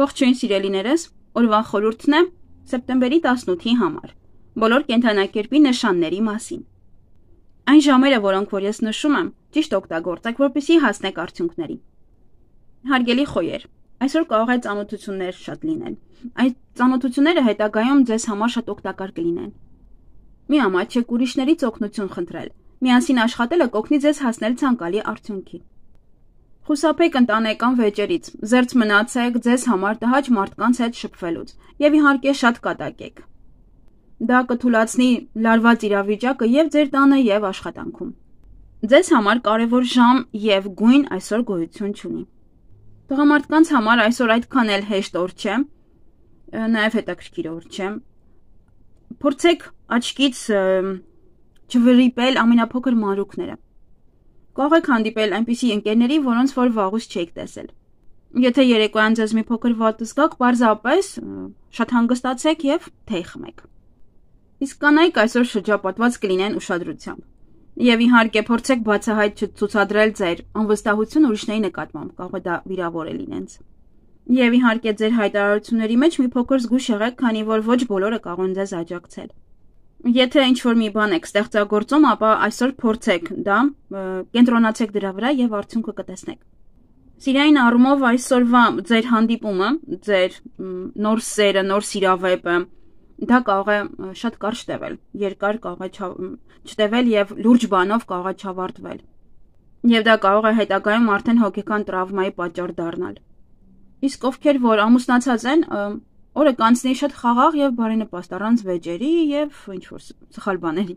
Ողջույն սիրելիներս, օրվա խորհուրդն է սեպտեմբերի 18-ի համար, բոլոր կենդանակերպի նշանների մասին։ Այն ժամերը, որոնք որ ես նշում եմ, ճիշտ օգտագործեք, որպեսզի հասնեք արդյունքների։ Հարգելի խոյեր, այսօր կարող է ծանոթություններ շատ լինեն։ Այդ ծանոթությունները հետագայում ձեզ համար շատ օգտակար կլինեն։ Մի ամաչեք ուրիշներից օգնություն խնդրել, միասին աշխատելը կօգնի ձեզ հասնել ցանկալի արդյունքի։ Խուսափեք ընտանեկան վեճերից, զերծ մնացեք ձեզ համար տհաճ մարդկանց հետ շփվելուց եւ իհարկե շատ կատակեք։ Դա կթույլատնի լարված իրավիճակը եւ ձեր տանը եւ աշխատանքում։ Ձեզ համար կարևոր ժամ եւ գույն այսօր գոյություն չունի։ Տղամարդկանց համար այսօր այդքան էլ հեշտ օր չէ, նաեւ հետաքրքիր օր չէ։ Փորձեք աչքից չվրիպել ամենափոքր մանրուքները։ Կարող եք հանդիպել այնպիսի ընկերների, որոնց որ վաղուց չեք տեսել։ Եթե երեկոյան ձեզ մի փոքր վատ զգաք, պարզապես շատ հանգստացեք եւ թեյ խմեք։ Իսկ կանայք այսօր շրջապատված կլինեն ուշադրությամբ։ Եվ իհարկե փորձեք բացահայտ չցուցադրել ձեր անվստահություն ուրիշների նկատմամբ, կարող է դա վիրավորել իրենց։ Եվ իհարկե ձեր հայտարարությունների մեջ մի փոքր զգույշ եղեք, քանի որ ոչ բոլորը կարող են ձեզ աջակցել։ Եթե ինչ-որ մի բան եք ստեղծագործում, ապա այսօր փորձեք դա, կենտրոնացեք դրա վրա եւ արդյունքը կտեսնեք։ Սիրային առումով այսօրվա ձեր հանդիպումը, ձեր նոր սերը, նոր սիրավեպը, դա կարող է շատ կարճ տևել, երկար կարող է չտևել եւ լուրջ բանով կարող է չավարտվել։ Եվ դա կարող է հետագայում արդեն հոգեկան տրավմայի պատճառ դառնալ։ Իսկ ովքեր որ ամուսնացած են, օրը կանցնի շատ խաղաղ եւ բարենպաստ առանց վեճերի եւ ինչ-որ սխալ բաների։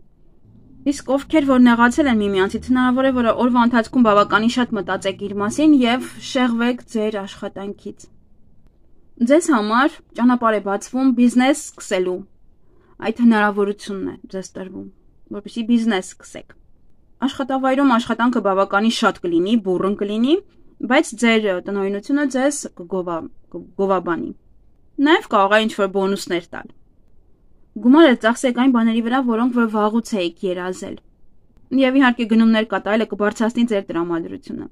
Իսկ ովքեր որ նեղացել են միմյանցից, հնարավոր է որ օրվա ընթացքում բավականին շատ մտածեք իր մասին եւ շեղվեք ձեր աշխատանքից։ Ձեզ համար ճանապարհ է բացվում բիզնես սկսելու։ Այդ հնարավորությունն է ձեզ տրվում, որպեսզի բիզնես սկսեք։ Աշխատավայրում աշխատանքը բավականին շատ կլինի, բուռն կլինի, բայց ձեր տնօրինությունը ձեզ կգովաբանի։ Նաև կարող է ինչ-որ բոնուսներ տալ։ Գումարը ծախսեք այն բաների վրա, որոնք որ վաղուց եք երազել։ Եվ իհարկե գնումներ կատարելը կբարձրացնի ձեր տրամադրությունը։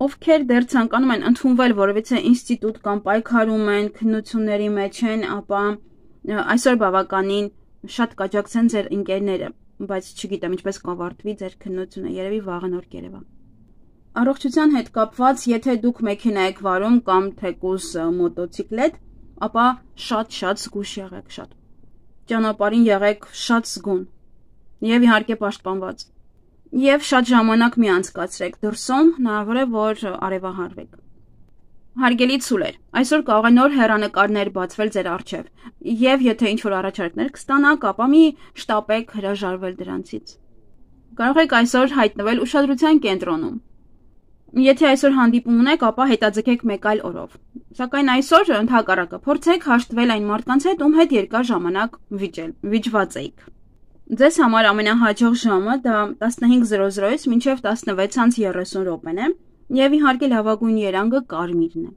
Ովքեր դեռ ցանկանում են ընդունվել որևիցե ինստիտուտ կամ պայքարում են, քննությունների մեջ են, ապա այսօր բավականին շատ կաջակցեն ձեր ընկերները, բայց չգիտեմ ինչպես կավարտվի ձեր քննությունը, երևի վաղը նոր կերևա։ Առողջության հետ կապված, եթե դուք մեքենա եք վարում կամ թեկուզ մոտոցիկլետ, ապա շատ զգույշ եղեք, շատ։ Ճանապարհին եղեք շատ զգոն եւ իհարկե պաշտպանված։ Եվ շատ ժամանակ մի անցկացրեք դրսում, հնարավոր է որ արևահարվեք։ Հարգելի ցուլեր, այսօր կարող է նոր հեռանկարներ բացվել ձեր առջև, եւ եթե ինչ-որ առաջարկներ կստանաք, ապա մի շտապեք հրաժարվել դրանցից։ Կարող եք այսօր հայտնվել ուշադրության կենտրոնում։ Եթե այսօր հանդիպում ունեք, ապա հետաձգեք մեկ այլ օրով։ Սակայն այսօր ընդհակառակը փորձեք հաշտվել այն մարդկանց հետ, ում հետ երկար ժամանակ վիճված եք։ Ձեզ համար ամենահաջող ժամը դա 15:00-ից մինչև 16:30 րոպեն է, եւ իհարկե լավագույն երանգը կարմիրն է։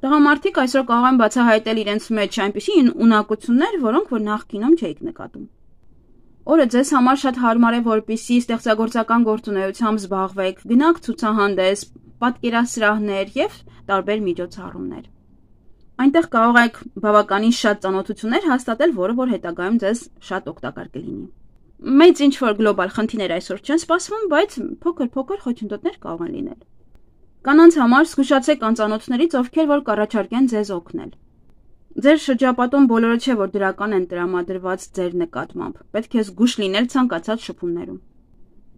Տղամարդիկ այսօր կարող են բացահայտել իրենց մեջ այնպիսի ունակություններ, որոնք որ նախկինում չէիք նկատում։ Օրը ձեզ համար շատ հարմար է, որպեսզի ստեղծագործական գործունեությամբ զբաղվեք, գնաք ցուցահանդես, պատկերասրահներ եւ տարբեր միջոցառումներ։ Այնտեղ կարող եք բավականին շատ ծանոթություններ հաստատել, որը որ հետագայում ձեզ շատ օգտակար կլինի։ Մեծ ինչ-որ գլոբալ խնդիրներ այսօր չեն սպասվում, բայց փոքր խոչընդոտներ կարող են լինել։ Կանանց համար զգուշացեք անծանոթներից, ովքեր որ կառաջարկեն ձեզ օգնել։ Ձեր շրջապատում բոլորը չէ, որ դրական են տրամադրված ձեր նկատմամբ։ Պետք է զգույշ լինել ցանկացած շփումներում։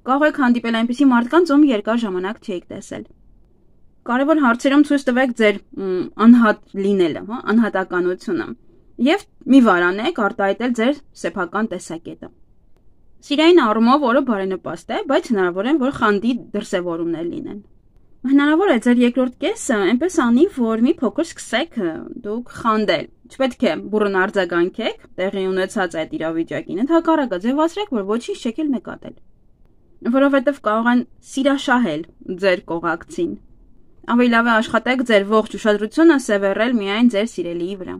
Կարող եք հանդիպել այնպիսի մարդկանց, ում երկար ժամանակ չեք տեսել։ Կարևոր հարցերում ցույց տվեք ձեր անհատ լինելը, անհատականությունը, եւ մի վարանեք արտահայտել ձեր սեփական տեսակետը։ Սիրային առումով օրը բարենպաստ է, բայց հնարավոր է, որ խանդի դրսևորումներ լինեն։ Հնարավոր է ձեր երկրորդ կեսը այնպես անի, որ մի փոքր սկսեք դուք խանդել։ Չպետք է բուռն արձագանքեք տեղի ունեցած այդ իրավիճակին, ընդհակառակը ձևացրեք, որ ոչինչ չեք էլ նկատել։ Որովհետև կարող են սիրաշահել ձեր կողակցին։ Ավելի լավ է աշխատեք ձեր ողջ ուշադրությունը սևեռել միայն ձեր սիրելիի վրա։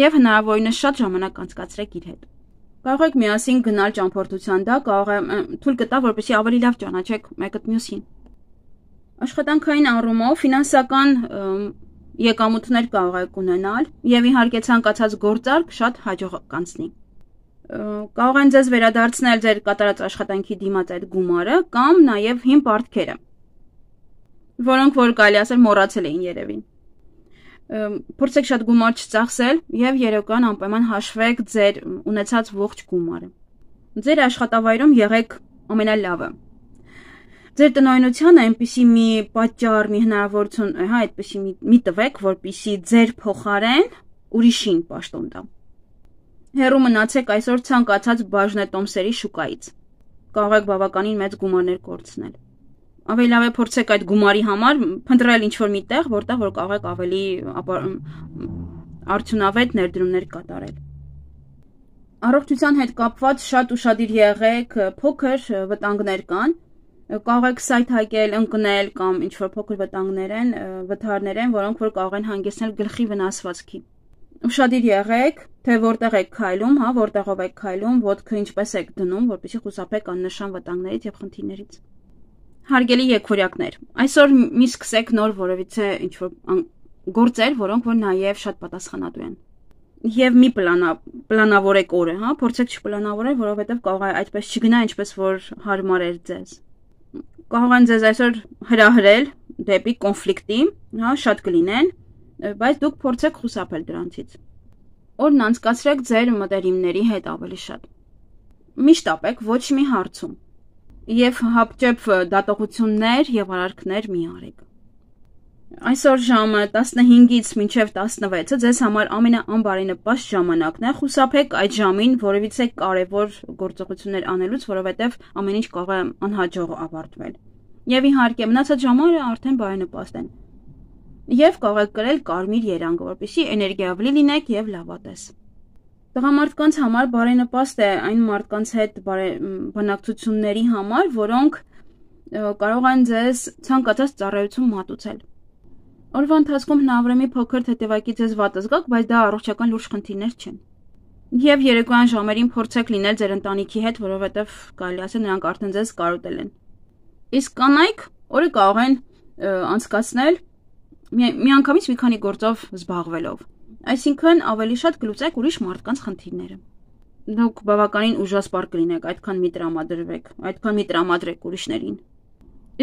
Եվ հնարավորինս շատ ժամանակ անցկացրեք իր հետ։ Կարող եք միասին գնալ ճամփորդության, դա կարող է թույլ կտա, որպեսզի ավելի լավ ճանաչեք մեկը մյուսին։ Աշխատանքային առումով ֆինանսական եկամուտներ կարող եք ունենալ եւ իհարկե ցանկացած գործարք շատ հաջող կանցնի։ Կարող են ձեզ վերադարձնել ձեր կատարած աշխատանքի դիմաց այդ գումարը կամ նաեւ հին պարտքերը, որոնք որ կարելի ասել մոռացել էին երևի։ Փորձեք շատ գումար չծախսել եւ երեկոյան անպայման հաշվեք ձեր ունեցած ողջ գումարը։ Ձեր աշխատավայրում եղեք ամենալավը։ Ձեր տնօրինությանը այնպիսի մի պատճառ, մի հնարավորություն, այդպիսի մի տվեք, որպիսի ձեր փոխարեն ուրիշին պաշտոն տա։ Հեռու մնացեք այսօր ցանկացած բաժնետոմսերի շուկայից։ Կարող եք բավականին մեծ գումարներ կորցնել։ Ավելի լավ է փորձեք այդ գումարի համար փնտրել ինչ-որ մի տեղ, որտեղ որ կարող եք ավելի արդյունավետ ներդրումներ կատարել։ Առողջության հետ կապված շատ ուշադիր եղեք, փոքր վտանգներ կան։ Կարող եք սայթ հակել, ընկնել կամ ինչ-որ փոքր վթարներ են, որոնք որ կարող են հանգեցնել գլխի վնասվածքի։ Ուշադիր եղեք, թե որտեղ եք քայլում, որտեղով եք քայլում, ոտքը ինչպես եք դնում, որպեսզի խուսափեք աննշան վտանգներից եւ խնդիրներից։ Հարգելի եկորյակներ, այսօր մի սկսեք նոր որևիցե ինչ-որ գործեր, որոնք որ նաեւ շատ պատասխանատու են։ Եվ մի պլանավորեք օրը, փորձեք չպլանավորել, որովհետեւ կարող է այդպես չգնա, ինչպես որ հարմար էր ձեզ։ Կարող են ձեզ այսօր հրահրել դեպի կոնֆլիկտի, շատ կլինեն, բայց դուք փորձեք խուսափել դրանցից։ Օրն անցկացրեք ձեր մտերիմների հետ ավելի շատ։ Միշտ ապեք ոչ մի հարցում եւ հապճեպ դատողություններ եւ արարքներ մի արեք։ Այսօր ժամը 15-ից մինչև 16-ը ձեզ համար ամենաանբարենպաստ ժամանակն է, խուսափեք այդ ժամին որևիցե կարևոր գործողություններ անելուց, որովհետև ամեն ինչ կարող է անհաջող ավարտվել։ Եվ իհարկե մնացած ժամերը արդեն բարենպաստ են։ Եվ կարող եք կրել կարմիր երանգ, որպեսզի էներգիավլի լինեք եւ լավատես։ Տղամարդկանց համար բարենպաստ է այն մարդկանց հետ բանակցությունների համար, որոնք կարող են ձեզ ցանկացած ծառայություն մատուցել։ Օրվա ընթացքում հնարավոր է մի փոքր թեթևակի ձեզ վատ զգաք, բայց դա առողջական լուրջ խնդիրներ չեն։ Եվ երեկոյան ժամերին փորձեք լինել ձեր ընտանիքի հետ, որովհետև կարելի ասել նրանք արդեն ձեզ կարոտել են։ Իսկ կանայք օրը կարող են անցկացնել միանգամից մի քանի գործով զբաղվելով։ Այսինքն ավելի շատ կլուծեք ուրիշ մարդկանց խնդիրները։ Դուք բավականին ուժասպառ կլինեք, այդքան մի տրամադրվեք, այդքան մի տրամադրեք ուրիշներին։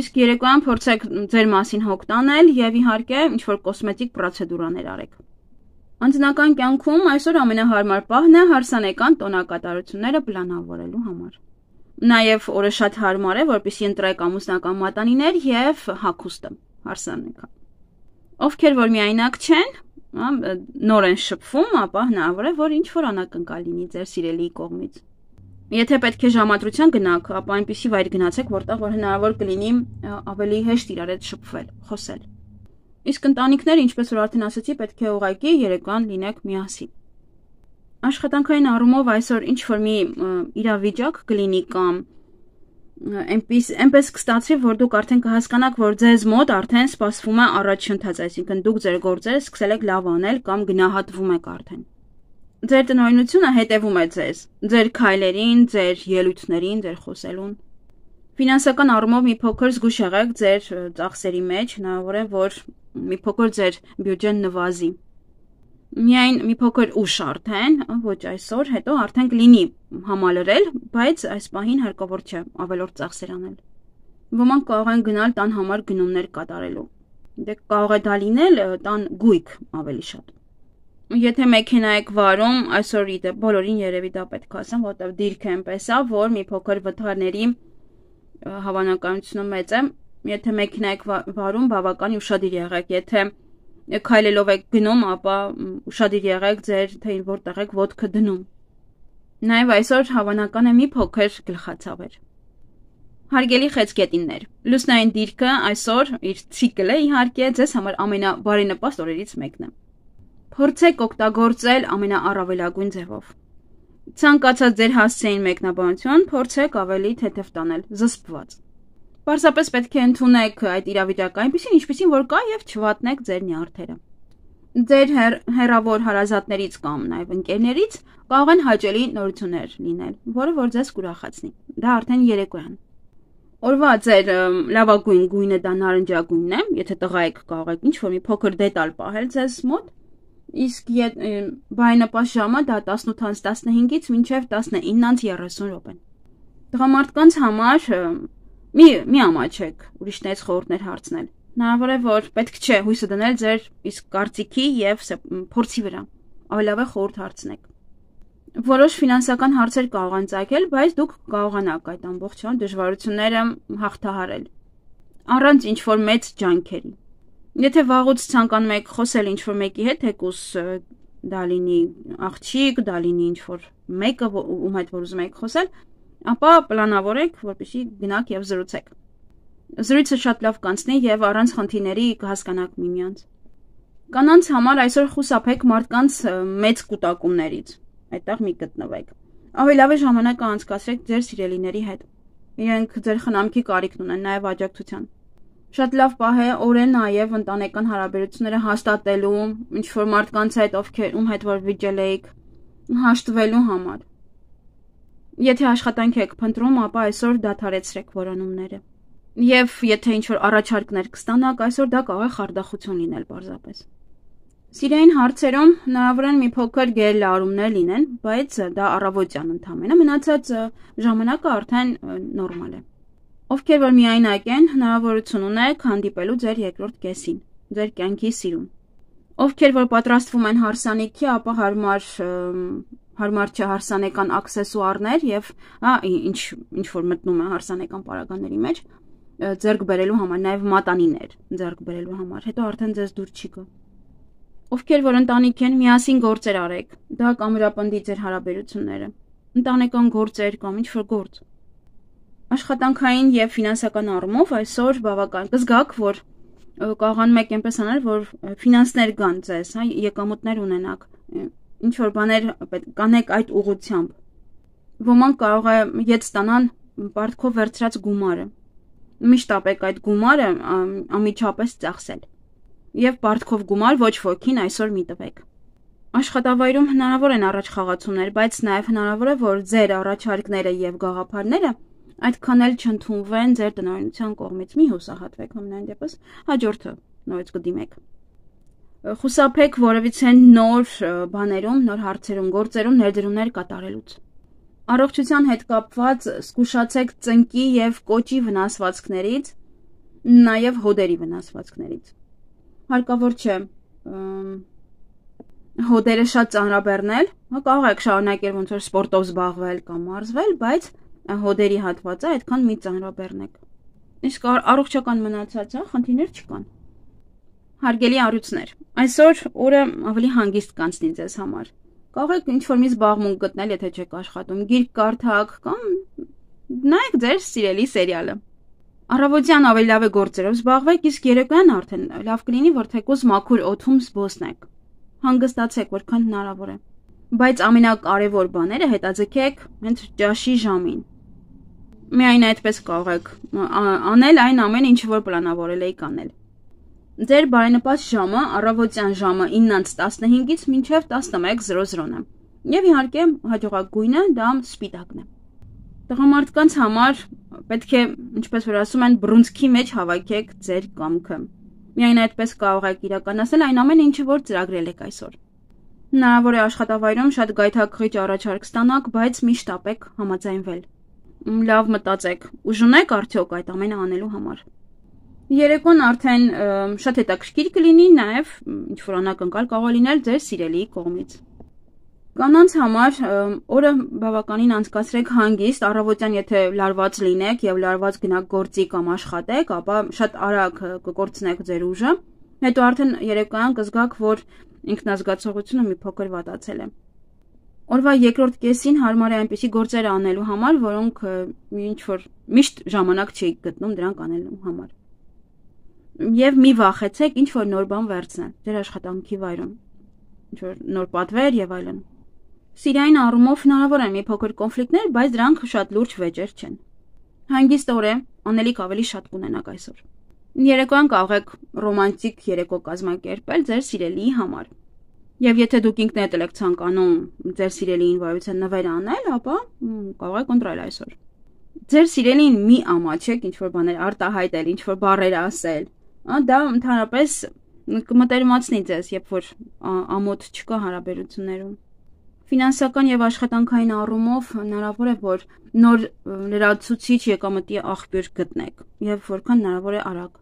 Իսկ երեկոյան փորձեք ձեր մասին հոգ տանել եւ իհարկե ինչ-որ կոսմետիկ պրոցեդուրաներ արեք։ Անձնական կյանքում այսօր ամենահարմար պահն է հարսանեկան տոնակատարությունները պլանավորելու համար։ Նաեւ օրը շատ հարմար է, որպեսզի ընտրեք ամուսնական մատանիներ եւ հագուստը հարսանեկան։ Ովքեր որ միայնակ չեն, նոր են շփվում, ապա հնարավոր է, որ ինչ-որ անակնկալ լինի ձեր սիրելիի կողմից։ Եթե պետք է ժամադրության գնաք, ապա այնպիսի վայր գնացեք, որտեղ որ հնարավոր կլինի ավելի հեշտ իրար հետ շփվել, խոսել։ Իսկ ընտանիքները, ինչպես որ արդեն ասացի, պետք է ուղղակի երեկոյան լինեք միասին։ Աշխատանքային առումով այսօր ինչ որ մի իրավիճակ կլինի կամ այնպես կստացվի, որ դուք արդեն կհասկանաք, որ ձեզ մոտ արդեն սպասվում է առաջընթաց, այսինքն դուք ձեր գործերը սկսել եք լավ անել կամ գնահատվում եք արդեն։ Ձեր տնօրինությունը հետևում է ձեզ, ձեր քայլերին, ձեր ելույթներին, ձեր խոսելուն։ Ֆինանսական առումով մի փոքր զգուշ եղեք ձեր ծախսերի մեջ, հնարավոր է, որ մի փոքր ձեր բյուջեն նվազի։ Միայն մի փոքր ուշ արդեն, ոչ այսօր, հետո արդեն կլինի համալրել, բայց այս պահին հարկավոր չէ ավելորդ ծախսեր անել։ Ոմանք կարող են գնալ տան համար գնումներ կատարելու։ Դե կարող է դա լինել տան գույք ավելի շատ։ Եթե մեքենա եք վարում, այսօր իդե բոլորին երևի դա պետք է ասեմ, որտեղ դիրքը այնպես է, որ մի փոքր վթարների հավանականությունը մեծ է։ Եթե մեքենա եք վարում, բավական ուշադիր եղեք, եթե քայլելով եք գնում, ապա ուշադիր եղեք ձեր թե որտեղ եք ոտքը դնում։ Նաև այսօր հավանական է մի փոքր գլխացավեր։ Հարգելի խեցգետիններ, լուսնային դիրքը այսօր իր ցիկլը իհարկե ձեզ համար ամենաբարենպաստ օրերից մեկն է։ Փորձեք օգտագործել ամենաառավելագույն ձևով։ Ցանկացած ձեր հասցեին մեկնաբանություն փորձեք ավելի թեթև տանել, զսպված։ Պարզապես պետք է ընդունեք այդ իրավիճակը այնպեսին, ինչպեսին որ կա եւ չվատնեք ձեր նյարդերը։ Ձեր հեռավոր հարազատներից կամ նաեւ ընկերներից կարող են հաճելի նորություններ լինել, որը որ ձեզ կուրախացնի։ Դա արդեն երեկոյան։ Օրվա ձեր լավագույն գույնը դա նարնջագույնն է, եթե տղա եք կարող եք ինչ-որ մի փոքր դետալ պահել ձեզ մոտ, իսկ բարենպաստ ժամը դա 18:15-ից մինչև 19:30 րոպեն։ Տղամարդկանց համար մի ամաչեք ուրիշներից խորհուրդներ հարցնել։ Հնարավոր է, որ պետք չէ հույսը դնել ձեր իսկ կարծիքի եւ փորձի վրա։ Ավելի լավ է խորհուրդ հարցնեք։ Որոշ ֆինանսական հարցեր կարող են ծագել, բայց դուք կարողանաք այդ ամբողջ դժվարությունները հաղթահարել առանց ինչ-որ մեծ ջանքերի։ Եթե վաղուց ցանկանում եք խոսել ինչ-որ մեկի հետ, թեկուզ դա լինի աղջիկ, դա լինի ինչ-որ մեկը, ում հետ որ ուզում եք խոսել, ապա պլանավորեք, որպեսզի գնաք եւ զրուցեք։ Զրույցը շատ լավ կանցնի եւ առանց խնդիրների կհասկանաք միմյանց։ Կանանց համար այսօր խուսափեք մարդկանց մեծ կուտակումներից։ Այդտեղ մի գտնվեք։ Ավելի լավ է ժամանակը անցկացրեք ձեր սիրելիների հետ։ Իրենք ձեր խնամքի կարիքն ունեն, նաև աջակցության։ Շատ լավ պահ է օրը նաև ընտանեկան հարաբերությունները հաստատելու, ինչ-որ մարդկանց հետ, ում հետ որ վիճել եք, հաշտվելու համար։ Եթե աշխատանք եք փնտրում, ապա այսօր դադարեցրեք որոնումները։ Եվ եթե ինչ-որ առաջարկներ կստանաք, այսօր դա կարող է խարդախություն լինել պարզապես։ Սիրային հարցերում հնարավոր են մի փոքր գերլարումներ լինեն, բայց դա առավոտյան ընդամենը, մնացած ժամանակը արդեն նորմալ է։ Ովքեր որ միայնակ են, հնարավորություն ունեք հանդիպելու ձեր երկրորդ կեսին, ձեր կյանքի սիրուն։ Ովքեր որ պատրաստվում են հարսանիքի, ապա հարմար չէ հարսանեկան աքսեսուարներ եւ ինչ որ մտնում է հարսանեկան պարագաների մեջ, ձեռք բերելու համար, նաև մատանիներ ձեռք բերելու համար, հետո արդեն ձեզ դուր չի գա։ Ովքեր որ ընտանիք են, միասին գործեր արեք, դա կամրապնդի ձեր հարաբերությունները, ընտանեկան գործեր կամ ինչ-որ գործ։ Աշխատանքային եւ ֆինանսական առումով այսօր բավական կզգաք, որ կարողանում եք այնպես անել, որ ֆինանսներ գան ձեզ, եկամուտներ ունենաք, ինչ-որ բաներ կանեք այդ ուղղությամբ։ Ոմանք կարող է ետ ստանան պարտքով վերցրած գումարը։ Միշտ ապեք այդ գումարը անմիջապես ծախսել։ Եվ պարտքով գումար ոչ ոքին այսօր մի տվեք։ Աշխատավայրում հնարավոր են առաջխաղացումներ, բայց նաև հնարավոր է, որ ձեր առաջարկները եւ գաղափարները այդքան էլ չընդունվեն ձեր տնօրինության կողմից։ Մի հուսահատվեք ամենայն դեպս, հաջորդը նորից կդիմեք։ Խուսափեք որևիցե նոր բաներում, նոր հարցերում, գործերում ներդրումներ կատարելուց։ Առողջության հետ կապված զգուշացեք ծնկի եւ կոճի վնասվածքներից, նաև հոդերի վնասվածքներից։ Հարկավոր չէ հոդերը շատ ծանրաբեռնել, կարող եք շարունակել ոնց որ սպորտով զբաղվել կամ մարզվել, բայց հոդերի հատվածը այդքան մի ծանրաբեռնեք։ Իսկ առողջական մնացած խնդիրներ չկան։ Հարգելի առյուծներ, այսօր օրը ավելի հանգիստ կանցնի ձեզ համար։ Կարող եք ինչ-որ մի զբաղմունք գտնել, եթե չեք աշխատում, գիրք կարդաք կամ նայեք ձեր սիրելի սերիալը։ Առավոտյան ավելի լավ է գործերով զբաղվեք, իսկ երեկոյան արդեն լավ կլինի, որ թեկուզ մաքուր օդում զբոսնեք։ Հանգստացեք, որքան հնարավոր է։ Բայց ամենակարևոր բաները հետաձգեք հենց ճաշի ժամին։ Միայն այդպես կարող եք անել այն ամենը, ինչ որ պլանավորել եք անել։ Ձեր բարենպաստ ժամը առավոտյան ժամը 9:15-ից մինչև 11:00-ն է։ Եվ իհարկե հաջողակ գույնը դա սպիտակն է։ Տղամարդկանց համար պետք է, ինչպես որ ասում են, բռունցքի մեջ հավաքեք ձեր կամքը։ Միայն այդպես կարող եք իրականացնել այն ամենը, ինչը որ ծրագրել եք այսօր։ Հնարավոր է աշխատավայրում շատ գայթակղիչ առաջարկ ստանաք, բայց միշտ ապեք համաձայնվել։ Լավ մտածեք, ուժ ունեք արդյոք այդ ամենը անելու համար։ Երեկոն արդեն շատ հետաքրքիր կլինի, նաև ինչ-որ անակնկալ կարող լինել ձեր սիրելիի կողմից։ Կանանց համար օրը բավականին անցկացրեք հանգիստ, առավոտյան եթե լարված լինեք եւ լարված գնաք գործի կամ աշխատեք, ապա շատ արագ կկորցնեք ձեր ուժը, հետո արդեն երեկոյան կզգաք, որ ինքնազգացողությունը մի փոքր վատացել է։ Օրվա երկրորդ կեսին հարմար է այնպիսի գործեր անելու համար, որոնք ինչ-որ միշտ ժամանակ չեք գտնում դրանք անելու համար։ Եվ մի վախեցեք ինչ-որ նոր բան վերցնել ձեր աշխատանքի վայրում, ինչ-որ նոր պատվեր եւ այլն։ Սիրային առումով հնարավոր են մի փոքր կոնֆլիկտներ, բայց դրանք շատ լուրջ վեճեր չեն։ Հանգիստ օր է, անելիք ավելի շատ կունենաք այսօր։ Երեկոյան կարող եք ռոմանտիկ երեկո կազմակերպել ձեր սիրելիի համար։ Եվ եթե դուք ինքներդ եք ցանկանում ձեր սիրելիին վայրության նվեր անել, ապա կարող եք ընտրել այսօր։ Ձեր սիրելին մի ամաչեք, ինչ որ բաներ արտահայտել, ինչ որ բառեր ասել, դա ընդհանրապես կմտերմացնի ձեզ, երբ որ ամոթ չկա հարաբերություններում։ Ֆինանսական եւ աշխատանքային առումով հնարավոր է, որ նոր լրացուցիչ եկամտի աղբյուր գտնեք եւ որքան հնարավոր է արագ։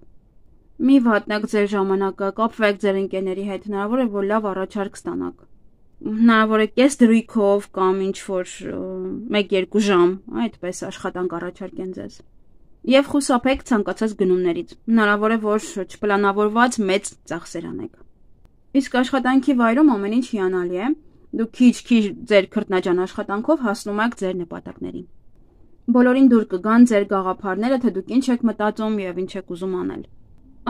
Մի վատնեք ձեր ժամանակը, կապվեք ձեր ընկերների հետ, հնարավոր է, որ լավ առաջարկ ստանաք։ Հնարավոր է կես դրույքով կամ ինչ որ 1-2 ժամ, այդպես աշխատանք առաջարկեն ձեզ։ Եվ խուսափեք ցանկացած գնումներից։ Հնարավոր է, որ չպլանավորված մեծ ծախսեր անեք։ Իսկ աշխատանքի վայրում ամեն ինչ հիանալի է։ Դուք քիչ-քիչ ձեր քրտնաջան աշխատանքով հասնում եք ձեր նպատակներին։ Բոլորին դուր կգան ձեր գաղափարները, թե դուք ինչ եք մտածում եւ ինչ եք ուզում անել։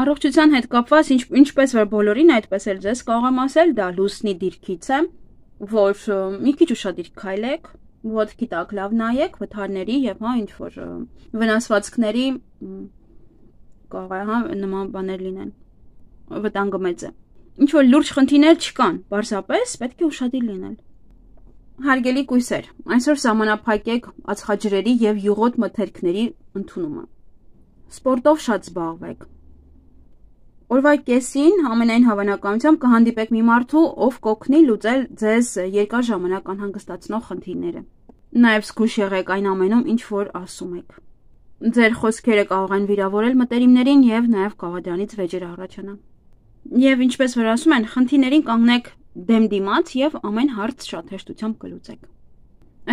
Առողջության հետ կապված ինչպես որ բոլորին, այդպես էլ ձեզ կարող եմ ասել, դա լուսնի դիրքից է, որ մի քիչ ուշադիր քայլեք, ոտքի տակ լավ նայեք, վթարների եւ ինչ որ վնասվածքների կարող է նման բաներ լինեն։ Վտանգը մեծ է։ Ինչ որ լուրջ խնդիրներ չկան, պարզապես պետք է ուշադիր լինել։ Հարգելի կույսեր, այսօր սահմանափակեք ածխաջրերի եւ յուղոտ մթերքների ընդունումը։ Սպորտով շատ զբաղվեք։ Օրվա կեսին ամենայն հավանականությամբ կհանդիպեք մի մարդու, ով կօգնի լուծել ձեզ երկար ժամանակ անհանգստացնող խնդիրները։ Նաեւ զգույշ եղեք այն ամենում, ինչ որ ասում եք։ Ձեր խոսքերը կարող են վիրավորել մտերիմներին եւ նաեւ կարող է դրանից վեճեր առաջանա։ Եվ ինչպես որ ասում են, խնդիրներին կանգնեք դեմ դիմաց եւ ամեն հարց շատ հեշտությամբ կլուծեք։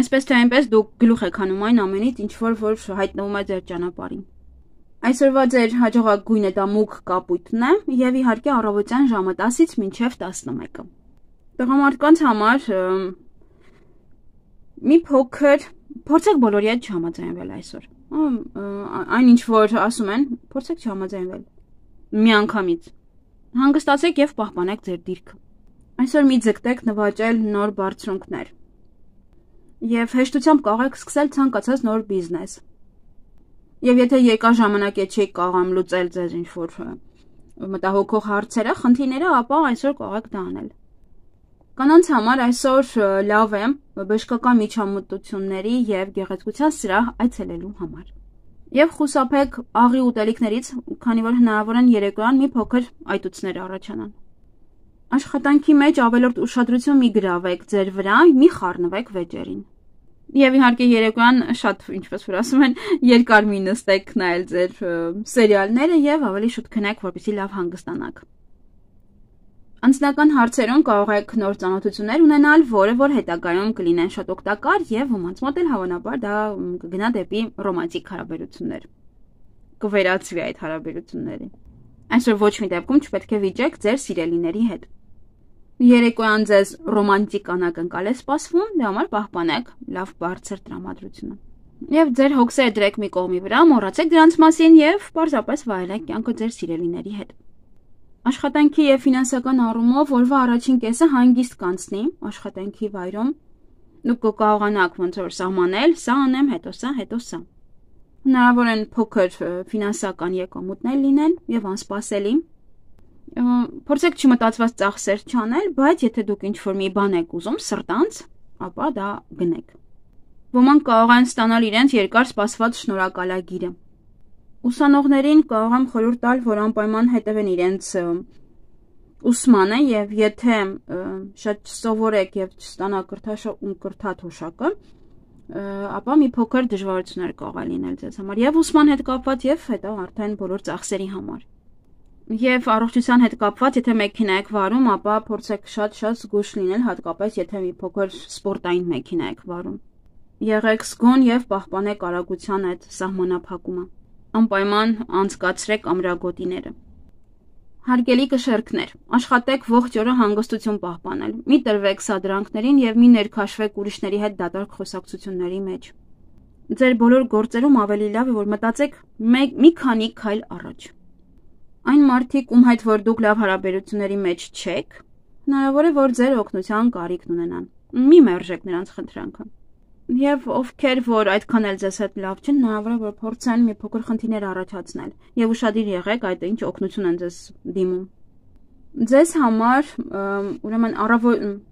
Այսպես թե այնպես դուք գլուխ եք հանում այն ամենից, ինչ որ հայտնվում է ձեր ճանապարհին։ Այսօրվա ձեր հաջողակ գույնը դա մուգ կապույտն է եւ իհարկե առավոտյան ժամը 10-ից մինչեւ 11-ը։ Տղամարդկանց համար մի փոքր փորձեք բոլորի հետ չհամաձայնվել այսօր։ Այն ինչ որ ասում են, փորձեք չհամաձայնվել։ Միանգամից հանգստացեք եւ պահպանեք ձեր դիրքը։ Այսօր մի ձգտեք նվաճել նոր բարձունքներ։ Եվ հեշտությամբ կարող եք սկսել ցանկացած նոր բիզնես։ Եվ եթե երկար ժամանակ է չեք կարող լուծել ձեզ ինչ որ մտահոգող հարցերը, խնդիրները, ապա այսօր կարող եք դա անել։ Կանանց համար այսօր լավ է բժշկական միջամտությունների եւ գեղեցկության սրահ այցելելու համար։ Եվ խուսափեք աղի ուտելիքներից, քանի որ հնարավոր են երեկոյան մի փոքր այտուցներ առաջանան։ Աշխատանքի մեջ ավելորդ ուշադրություն մի գրավեք ձեր վրա, մի խառնվեք վեճերին։ Եվ իհարկե երեկոյան շատ, ինչպես որ ասում են, երկար մի նստեք նայել ձեր սերիալները եւ ավելի շուտ քնեք, որպեսզի լավ հանգստանաք։ Անձնական հարցերում կարող եք նոր ծանոթություններ ունենալ, որը որ հետագայում կլինեն շատ օգտակար եւ ոմանց մոտ էլ հավանաբար դա կգնա դեպի ռոմանտիկ հարաբերություններ։ Կվերածվի այդ հարաբերությունները։ Այսօր ոչ մի դեպքում չպետք է վիճեք ձեր սիրելիների հետ։ Երեկոյան ձեզ ռոմանտիկ անակնկալ է սպասվում, դրա համար պահպանեք լավ բարձր տրամադրությունը։ Եվ ձեր հոգսերը դրեք մի կողմի վրա, մոռացեք դրանց մասին եւ պարզապես վայելեք կյանքը ձեր սիրելիների հետ։ Աշխատանքի եւ ֆինանսական առումով օրվա առաջին կեսը հանգիստ կանցնի աշխատանքի վայրում։ Դուք կկարողանաք ոնց որ սահմանել, սա անեմ, հետո սա։ Հնարավոր են փոքր ֆինանսական եկամուտներ լինեն եւ անսպասելի։ Փորձեք չմտածված ծախսեր չանել, բայց եթե դուք ինչ-որ մի բան եք ուզում սրտանց, ապա դա գնեք։ Ոմանք կարող են ստանալ իրենց երկար սպասված շնորհակալագիրը։ Ուսանողներին կարող եմ խորհուրդ տալ, որ անպայման հետևեն իրենց ուսմանը եւ եթե շատ սովորեք եւ չստանաք կրթաթոշակը, ապա մի փոքր դժվարություններ կարող է լինել ձեզ համար եւ ուսման հետ կապված եւ հետո արդեն բոլոր ծախսերի համար։ Եվ առողջության հետ կապված, եթե մեքենա եք վարում, ապա փորձեք շատ զգույշ լինել, հատկապես եթե մի փոքր սպորտային մեքենա եք վարում։ Եղեք զգոն եւ պահպանեք արագության այդ սահմանափակումը։ Անպայման անցկացրեք ամրագոտիները։ Հարգելի կշեռքներ, աշխատեք ողջ օրը հանգստություն պահպանել։ Մի տրվեք սադրանքներին եւ մի ներքաշվեք ուրիշների հետ դատարկ խոսակցությունների մեջ։ Ձեր բոլոր գործերում ավելի լավ է, որ մտածեք մի քանի քայլ առաջ։ Այն մարդիկ, ում հետ որ դուք լավ հարաբերությունների մեջ չեք, հնարավոր է, որ ձեր օգնության կարիքն ունենան։ Մի մերժեք նրանց խնդրանքը։ Եվ ովքեր որ այդքան էլ ձեզ հետ լավ չեն, հնարավոր է, որ փորձեն մի փոքր խնդիրներ առաջացնել եւ ուշադիր եղեք այդ ինչ օգնություն են ձեզ դիմում։ Ձեզ համար ուրեմն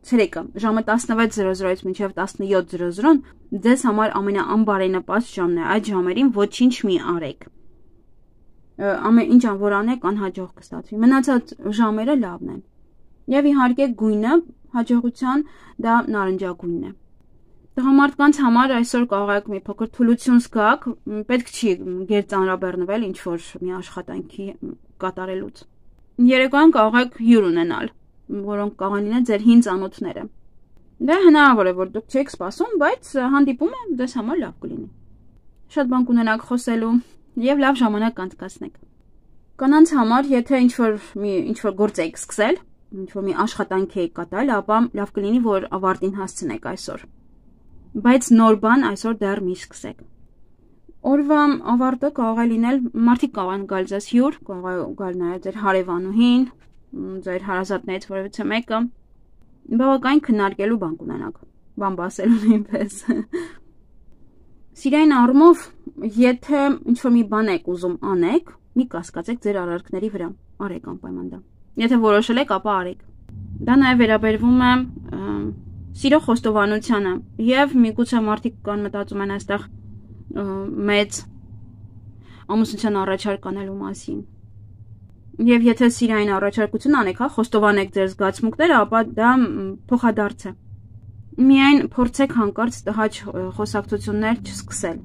ցերեկը ժամը 16:00-ից մինչև 17:00 ձեզ համար ամենաանբարենպաստ ժամն է, այդ ժամերին ոչինչ մի արեք, ամեն ինչ որ անեք անհաջող կստացվի, մնացած ժամերը լավն են, եւ իհարկե գույնը հաջողության դա նարնջագույնն է։ Տղամարդկանց համար այսօր կարող եք մի փոքր թուլություն զգաք, պետք չի գերծանրաբեռնվել ինչ որ մի աշխատանքի կատարելուց։ Երեկոյան կարող եք հյուր ունենալ, որոնք կարող են լինել ձեր հին ծանոթները։ Դա հնարավոր է, որ դուք չեք սպասում, բայց հանդիպումը ձեզ համար լավ կլինի։ Շատ բան կունենաք խոսելու եւ լավ ժամանակ կանցկացնեք։ Կանանց համար, եթե ինչ որ գործ եք սկսել, ինչ որ մի աշխատանք եք կատարել, ապա լավ կլինի, որ ավարտին հասցնեք այսօր։ Բայց նոր բան այսօր դեռ մի սկսեք։ Օրվա ավարտը կարող է լինել, մարդիկ կարող են գալ ձեզ հյուր, կարող է գալ նաև ձեր հարևանուհին, ձեր հարազատներից որևիցե մեկը, բավական քննարկելու բան կունենաք, բան ասելու նույնպես։ Սիրային առումով, եթե ինչ-որ մի բան եք ուզում անեք, մի կասկածեք ձեր արարքների վրա, արեք անպայման դա։ Եթե որոշել եք, ապա արեք։ Դա նաև վերաբերվում է սիրո խոստովանությանը, եւ միգուցե մարդիկ կան մտածում են այստեղ մեծ ամուսնության առաջարկ անելու մասին։ Եվ եթե սիրային առաջարկություն անեք, խոստովանեք ձեր զգացմունքները, ապա դա փոխադարձ է։ Միայն փորձեք հանկարծ տհաճ խոսակցություններ չսկսել,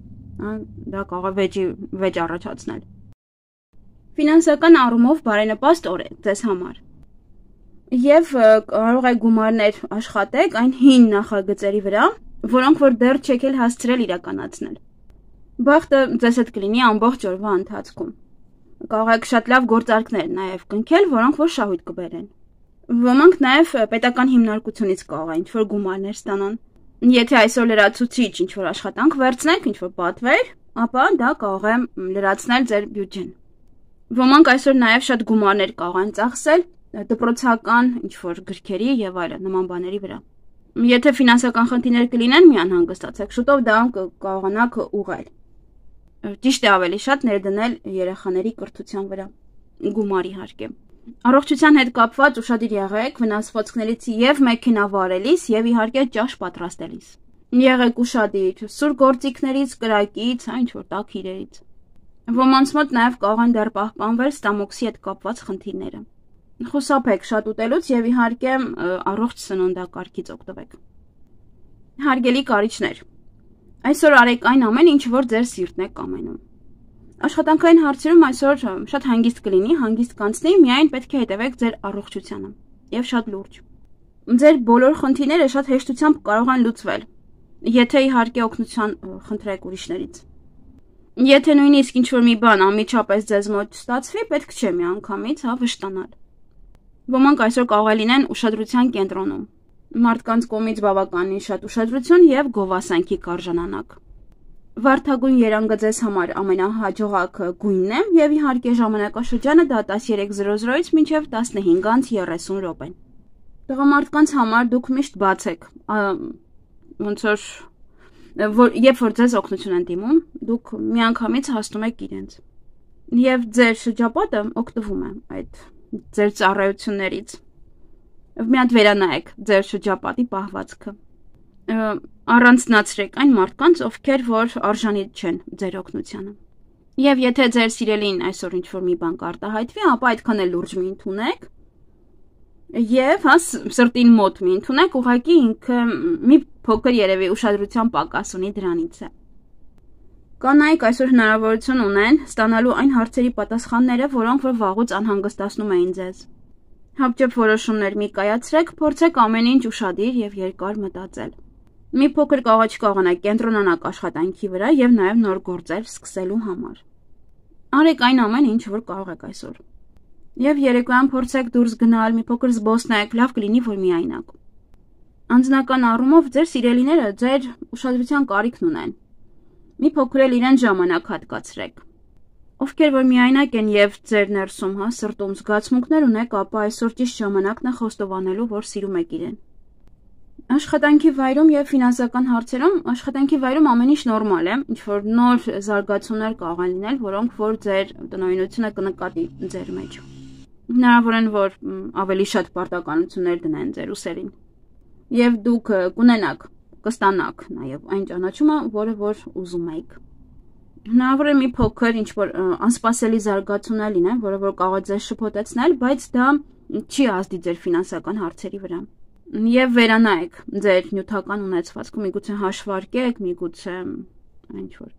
դա կարող է վեճ առաջացնել։ Ֆինանսական առումով բարենպաստ օր է ձեզ համար։ Եվ կարող եք գումարներ աշխատեք այն հին նախագծերի վրա, որոնք որ դեռ չեք էլ հասցրել իրականացնել։ Բախտը ձեզ հետ կլինի ամբողջ օրվա ընթացքում։ Կարող եք շատ լավ գործարքներ նաև կնքել, որոնք որ շահույթ կբերեն։ Ոմանք նաև պետական հիմնարկությունից կարող են ինչ-որ գումարներ ստանան։ Եթե այսօր լրացուցիչ ինչ-որ աշխատանք վերցնեք, ինչ-որ պատվեր, ապա դա կարող է լրացնել ձեր բյուջեն։ Ոմանք այսօր նաև շատ գումարներ կարող են ծախսել դպրոցական ինչ-որ գրքերի եւ այլն նման բաների վրա։ Եթե ֆինանսական խնդիրներ կլինեն, մի անհանգստացեք, շուտով դա կարողանաք ուղղել։ Ճիշտ է ավելի շատ ներդնել երեխաների կրթության վրա, գումար իհարկե։ Առողջության հետ կապված ուշադիր եղեք վնասվածքներից եւ մեքենա վարելիս եւ իհարկե ճաշ պատրաստելիս։ Եղեք ուշադիր սուր գործիքներից, կրակից, ինչ որ տաք իրերից։ Ոմանց մոտ նաեւ կարող են դեռ պահպանվել ստամոքսի հետ կապված խնդիրները։ Խուսափեք շատ ուտելուց եւ իհարկե առողջ սննդակարգից օգտվեք։ Հարգելի կարիճներ, այսօր արեք այն ամեն ինչ որ ձեր սիրտն է կամենում։ Աշխատանքային հարցերում այսօր շատ հանգիստ կլինի, հանգիստ կանցնի, միայն պետք է հետևեք ձեր առողջությանը եւ շատ լուրջ։ Ձեր բոլոր խնդիրները շատ հեշտությամբ կարող են լուծվել, եթե իհարկե օգնություն խնդրեք ուրիշներից։ Եթե նույնիսկ ինչ որ մի բան անմիջապես ձեզ մոտ ստացվի, պետք չէ միանգամից վշտանալ։ Ոմանք այսօր կարող է լինեն ուշադրության կենտրոնում։ Մարդկանց կողմից բավականին շատ ուշադրություն եւ գովասանքի կարժանանակ։ Վարդագույն երանգը ձեզ համար ամենահաջողակ գույնն է եւ իհարկե ժամանակաշրջանը դա 13:00-ից մինչև 15:30 րոպեն։ Տղամարդկանց համար դուք միշտ բաց եք, ոնց որ երբ որ ձեզ օգնություն են դիմում, դուք միանգամից հասնում եք իրենց։ Եվ ձեր շրջապատը օգտվում է այդ ձեր ծառայություններից։ Մի հատ վերանայեք ձեր շրջապատի պահվածքը։ Առանձնացրեք այն մարդկանց, ովքեր որ արժանի չեն ձեր օգնությանը։ Եվ եթե ձեր սիրելին այսօր ինչ-որ մի բան կարտահայտվի, ապա այդքան էլ լուրջ մի ընդունեք։ Եվ սրտին մոտ մի ընդունեք, ուղղակի ինքը մի փոքր երևի ուշադրության պակաս ունի դրանից է։ Կանայք այսօր հնարավորություն ունեն ստանալու այն հարցերի պատասխանները, որոնք որ վաղուց անհանգստացնում էին ձեզ։ Հապճեպ որոշումներ մի կայացրեք, փորձեք ամեն ինչ ուշադիր եւ երկար մտածել։ Մի փոքր կարողանաք կենտրոնանալ աշխատանքի վրա եւ նաեւ նոր գործեր սկսելու համար։ Արեք այն ամեն ինչ, որ կարող եք այսօր։ Եվ երեկոյան փորձեք դուրս գնալ, մի փոքր զբոսնեք, լավ կլինի, որ միայնակ։ Անձնական առումով ձեր սիրելիները ձեր ուշադրության կարիքն ունեն։ Մի փոքր էլ իրեն ժամանակ հատկացրեք։ Ովքեր որ միայնակ են եւ ձեր ներսում, սրտում զգացմունքներ ունեք, ապա այսօր ճիշտ ժամանակն է խոստովանելու, որ սիրում եք իրեն։ Աշխատանքի վայրում եւ ֆինանսական հարցերում, աշխատանքի վայրում ամեն ինչ նորմալ է, ինչ որ նոր զարգացումներ կարող են լինել, որոնք որ ձեր տնօրինությունը կնկատի ձեր մեջ։ Հնարավոր են, որ ավելի շատ պարտականություններ դնեն ձեր ուսերին։ Եվ դուք կունենաք, կստանաք նաև այն ճանաչումը, որը որ ուզում եք։ Հնարավոր է մի փոքր ինչ-որ անսպասելի զարգացումներ լինեն, որը որ կարող է ձեզ շփոթեցնել, բայց դա չի ազդի ձեր ֆինանսական հարցերի վրա։ Եվ վերանայեք ձեր նյութական ունեցվածքը, միգուցե հաշվարկեք, միգուցե ինչ-որ։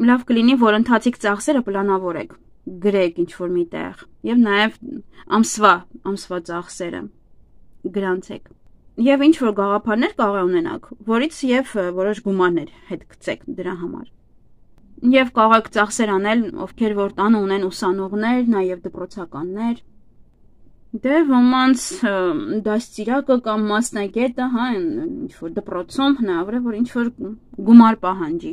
Լավ կլինի, որ ընթացիկ ծախսերը պլանավորեք, գրեք ինչ-որ միտեղ, եւ նաեւ ամսվա ծախսերը գրանցեք։ Եվ ինչ-որ գաղափարներ կարող ունենաք, որից եւ որոշ գումարներ հետ գցեք դրա համար։ Եվ կարող եք ծախսեր անել, ովքեր որ տանը ունեն ուսանողներ, նաեւ դպրոցականներ։ Դե ոմանց դաստիարակը կամ մասնագետը, հա, ինչ-որ դպրոցում հնարավոր է, որ ինչ-որ գումար պահանջի։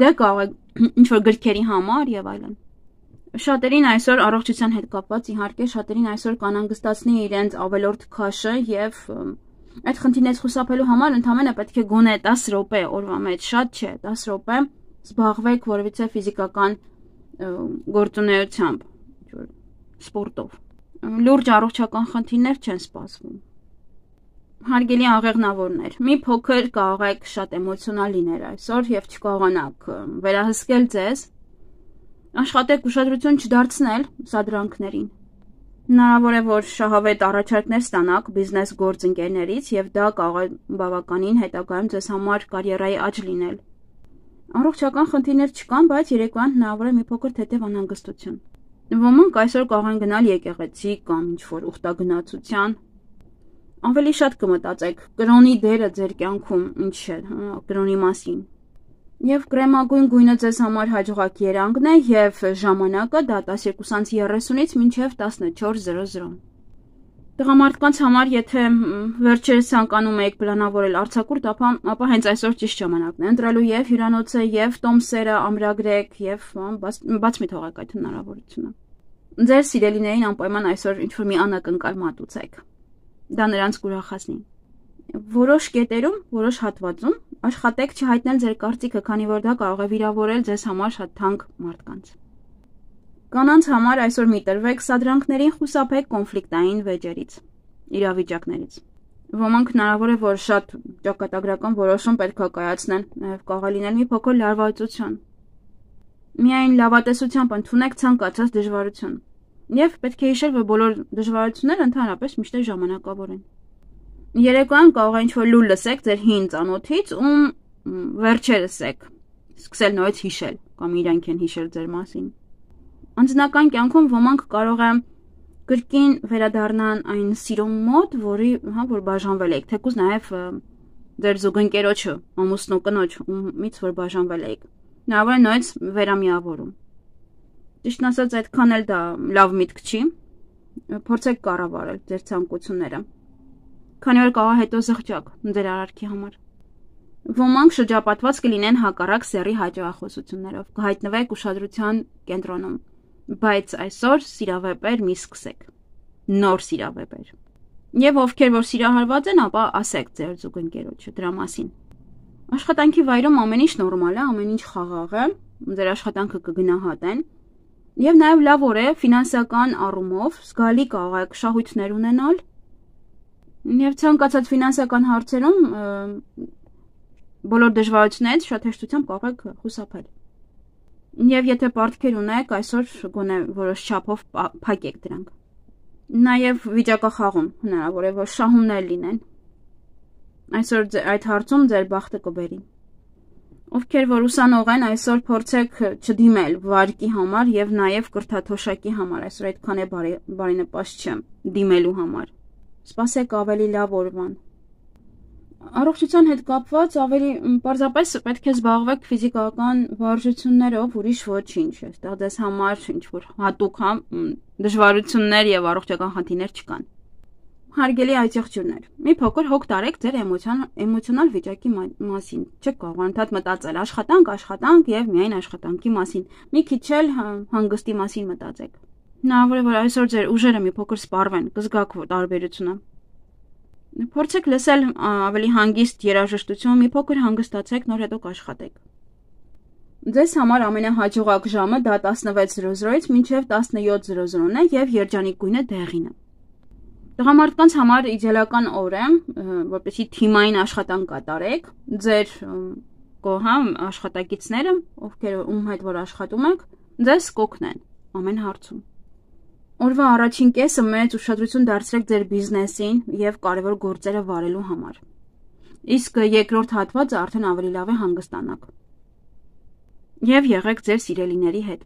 Դե կարող եք ինչ-որ գրքերի համար եւ այլն։ Շատերին այսօր առողջության հետ կապված իհարկե շատերին այսօր կանանգստացնի իրենց ավելորդ քաշը եւ այդ խնդիրներից խուսափելու համար ընդհանրապես պետք է գոնե 10 րոպե օրվա մեջ, շատ չէ, 10 րոպե զբաղվեք որևիցե ֆիզիկական գործունեությամբ, սպորտով։ Լուրջ առողջական խնդիրներ չեն սպասվում։ Հարգելի աղեղնավորներ, մի փոքր կարող եք շատ էմոցիոնալ լինել այսօր եւ չկարողանաք վերահսկել ձեզ, աշխատեք ուշադրություն չդարձնել սադրանքներին։ Հնարավոր է, որ շահավետ առաջարկներ ստանաք բիզնես գործընկերներից եւ դա կարող է բավականին հետագայում ձեզ համար կարիերայի աճ լինել։ Առողջական խնդիրներ չկան, բայց երեկոյան հնարավոր է մի փոքր թեթև անհանգստություն։ Ոմանք այսօր կարող են գնալ եկեղեցի կամ ինչ-որ ուխտագնացության։ Ավելի շատ կմտածեք կրոնի դերը ձեր կյանքում ինչ է, կրոնի մասին։ Եվ կրեմագույն գույնը ձեզ համար հաջողակ երանգն է եւ ժամանակը դա 12:30-ից մինչեւ 14:00։ Տղամարդկանց համար, եթե վերջերս ցանկանում եք պլանավորել արձակուրդ, ապա հենց այսօր ճիշտ ժամանակն է ընտրելու եւ հյուրանոցը եւ տոմսերը ամրագրեք եւ բաց մի թողեք այդ հնարավորությունը։ Ձեր սիրելիներին անպայման այսօր ինչ-որ մի անակնկալ մատուցեք։ Դա նրանց կուրախացնի։ Որոշ կետերում, որոշ հատվածում աշխատեք չհայտնել ձեր կարծիքը, քանի որ դա կարող է վիրավորել ձեզ համար շատ թանկ մարդկանց։ Կանանց համար այսօր մի տրվեք սադրանքներին, խուսափեք կոնֆլիկտային վեճերից, իրավիճակներից։ Ոմանք հնարավոր է, որ շատ ճակատագրական որոշում պետք է կայացնեն, նաև կարող է լինել մի փոքր լարվածություն։ Միայն լավատեսությամբ ընդունեք ցանկացած դժվարություն։ Եվ պետք է հիշել, որ բոլոր դժվարությունները ընդհանրապես միշտ ժամանակավոր են։ Երեկոյան կարող է ինչ-որ լուր լսեք ձեր հին ծանոթից, ում վերջերս եք սկսել նորից հիշել, կամ իրանք են հիշել ձեր մասին։ Անձնական կյանքում ոմանք կարող է կրկին վերադառնան այն սիրո մոտ, որ բաժանվել եք, թեկուզ նաև ձեր զուգընկերոջը, ամուսնու կնոջ, ումից որ բաժանվել եք։ Հնարավոր է նորից վերամիավորում։ Ճիշտն ասած, այդքան էլ դա լավ միտք չի։ Փորձեք կառավարել ձեր ցանկությունները։ Քանի որ կարող հետո զղջակ ձեր արարքի համար։ Ոմանք շրջապատված կլինեն հակառակ սեռի հաճախոսություններով, կհայտնվեք ուշադրության կենտրոնում, բայց այսօր սիրավեպեր մի սկսեք, նոր սիրավեպեր։ Եվ ովքեր որ սիրահարված են, ապա ասեք ձեր զուգընկերոջը դրա մասին։ Աշխատանքի վայրում ամեն ինչ նորմալ է, ամեն ինչ խաղաղ է, ձեր աշխատանքը կգնահատեն, եւ նաեւ լավ օր է ֆինանսական առումով, զգալի կարող եք շահույթներ ունենալ։ Եվ ցանկացած ֆինանսական հարցերում բոլոր դժվարություններից շատ հեշտությամբ կարող եք խուսափել։ Եվ եթե պարտքեր ունեք, այսօր գոնե որոշ չափով փակեք դրանք։ Նաև վիճակախաղում հնարավոր է, որ շահումներ լինեն։ Այսօր այդ հարցում ձեր բախտը կբերի։ Ովքեր որ ուսանող են, այսօր փորձեք չդիմել վարկի համար եւ նաև կրթաթոշակի համար, այսօր այդքան է բարենպաստ չէ դիմելու համար։ Սպասեք ավելի լավ օրվան։ Առողջության հետ կապված ավելի պարզապես պետք է զբաղվեք ֆիզիկական վարժություններով, ուրիշ ոչինչ։ Այստեղ դες համար ինչ-որ հատուկ դժվարություններ եւ առողջական խնդիրներ չկան։ Հարգելի այցեղջյուրներ, մի փոքր հոգ տարեք ձեր էմոցիոնալ վիճակի մասին։ Չեք կարող անընդհատ մտածել աշխատանք եւ միայն աշխատանքի մասին։ Մի քիչ էլ հանգստի մասին մտածեք։ Հնարավոր է, որ այսօր ձեր ուժերը մի փոքր սպառվեն, կզգաք տարբերությունը։ Փորձեք լսել ավելի հանգիստ երաժշտություն, մի փոքր հանգստացեք, նոր հետո կաշխատեք։ Ձեզ համար ամենահաջողակ ժամը դա 16:00-ից մինչև 17:00-ն է եւ երջանիկ գույնը դեղին է։ Տղամարդկանց համար իդեալական օր է, որպեսզի թիմային աշխատանք կատարեք, ձեր աշխատակիցները, ում հետ որ աշխատում եք, ձեզ կօգնեն ամեն հարցում։ Օրվա առաջին կեսը մեծ ուշադրություն դարձրեք ձեր բիզնեսին եւ կարևոր գործերը վարելու համար։ Իսկ երկրորդ հատվածը արդեն ավելի լավ է հանգստանաք։ Եվ եղեք ձեր սիրելիների հետ։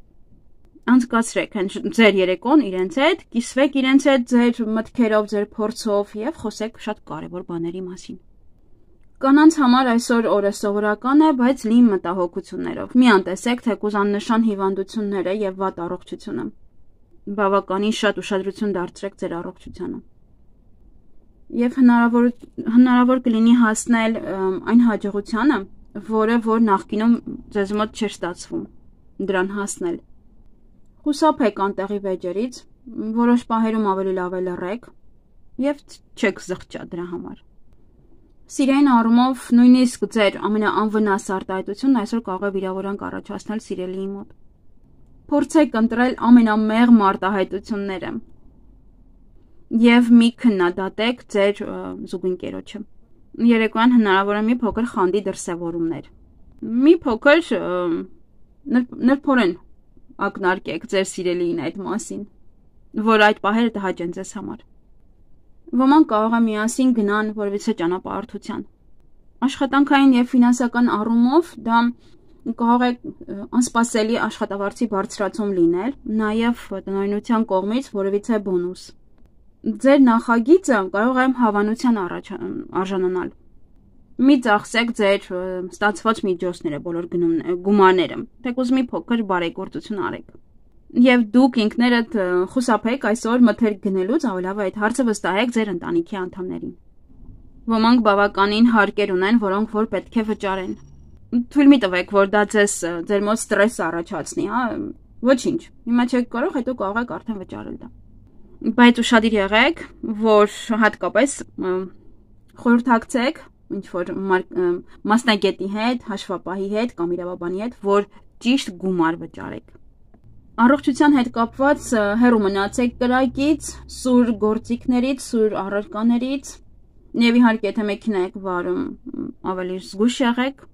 Անցկացրեք ձեր երեկոն իրենց հետ, կիսվեք իրենց հետ ձեր մտքերով, ձեր փորձով եւ խոսեք շատ կարևոր բաների մասին։ Կանանց համար այսօր օրը սովորական է, բայց լի մտահոգություններով։ Մի անտեսեք թեկուզ աննշան հիվանդությունները եւ վատ առողջությունը։ Բավականին շատ ուշադրություն դարձրեք ձեր առողջությանը։ Եվ հնարավոր կլինի հասնել այն հաջողությանը, որը որ նախկինում ձեզ մոտ չէր ստացվում դրան հասնել։ Խուսափեք անտեղի վեճերից, որոշ պահերում ավելի լավ է լռեք եւ չեք զղջա դրա համար։ Սիրային առումով նույնիսկ ձեր ամենաանվնաս արտահայտությունն այսօր կարող է վիրավորանք առաջացնել սիրելիի մոտ։ Փորձեք ընտրել ամենամեղմ արտահայտությունները եւ մի քննադատեք ձեր զուգընկերոջը։ Երեկոյան հնարավոր է մի փոքր խանդի դրսևորումներ։ Մի փոքր նրբորեն ակնարկեք ձեր սիրելիին այդ մասին, որ այդ պահերը տհաճ են ձեզ համար։ Ոմանք կարող է միասին գնան որևիցե ճանապարհորդության։ Աշխատանքային եւ ֆինանսական առումով դա կարող է անսպասելի աշխատավարձի բարձրացում լինել, նաեւ տնօրինության կողմից որևիցե բոնուս։ Ձեր նախագիծը կարող է հավանության արժանանալ։ Մի ծախսեք ձեր ստացված միջոցները, բոլոր գումարները, թեկուզ մի փոքր բարեգործություն արեք։ Եվ դուք ինքներդ խուսափեք այսօր մթերք գնելուց, ավելի լավ է այդ հարցը վստահեք ձեր ընտանիքի անդամներին։ Ոմանք բավականին հարկեր ունեն, որոնք որ պետք է վճարեն։ Թույլ մի տվեք, որ դա ձեր մոտ ստրես առաջացնի, հա, ոչինչ։ Հիմա չեք կարող, հետո կարող եք արդեն վճարել դա։ Բայց ուշադիր եղեք, որ հատկապես խորհրդակցեք ինչ որ մասնագետի հետ, հաշվապահի հետ կամ իրավաբանի հետ, որ ճիշտ գումար վճարեք։ Առողջության հետ կապված հեռու մնացեք կրակից, սուր գործիքներից, սուր առարկաներից, եւ իհարկե եթե մեքենա եք վարում, ավելի զգույշ եղեք,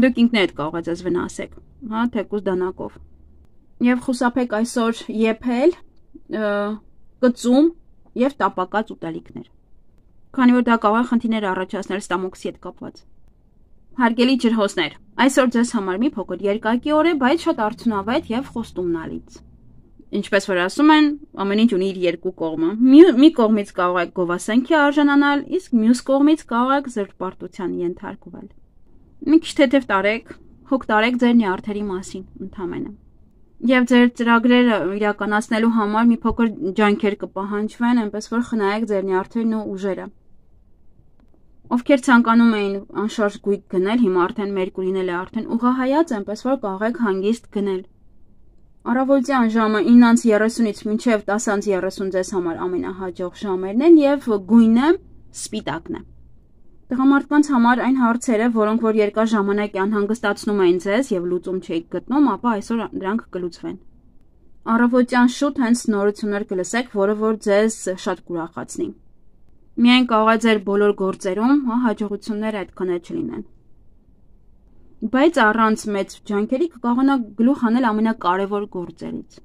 դուք ինքներդ կարող եք ձեզ վնասեք, հա, թեկուզ դանակով։ Եվ խուսափեք այսօր եփել, կծում եւ տապակած ուտելիքներ։ Քանի որ դա կարող է խնդիրներ առաջացնել ստամոքսի հետ կապված։ Հարգելի ջրհոսներ, այսօր ձեզ համար մի փոքր երկակի օր է, բայց շատ արդյունավետ եւ խոստումնալից։ Ինչպես որ ասում են, ամեն ինչ ունի իր երկու կողմը։ Մի կողմից կարող եք գովասանքի արժանանալ, իսկ մյուս կողմից կարող եք զրպարտության ենթարկվել։ Մի քիչ թեթև տարեք, հոգ տարեք ձեր նյարդերի մասին ընդհանրապես։ Եվ ձեր ծրագրերը իրականացնելու համար մի փոքր ջանքեր կպահանջվեն, այնպես որ խնայեք ձեր նյարդերն ու ուժերը։ Ովքեր ցանկանում էին անշարժ գույք գնել, հիմա արդեն Մերկուրին էլ է արդեն ուղղահայաց, այնպես որ կարող եք հանգիստ գնել։ Առավոտյան ժամը 9:30-ից մինչև 10:30 ձեզ համար ամենահաջող ժամերն են եւ գույնը սպիտակն է։ Տղամարդկանց համար այն հարցերը, որոնք որ երկար ժամանակ անհանգստացնում էին ձեզ եւ լուծում չէիք գտնում, ապա այսօր դրանք կլուծվեն։ Առավոտյան շուտ հենց նորություններ կլսեք, որը որ ձեզ շատ կուրախացնի։ Միայն կարող է ձեր բոլոր գործերում հաջողությունները այդքան էլ չլինեն։ Բայց առանց մեծ ջանքերի կկարողանաք գլուխ հանել ամենակարևոր գործերից։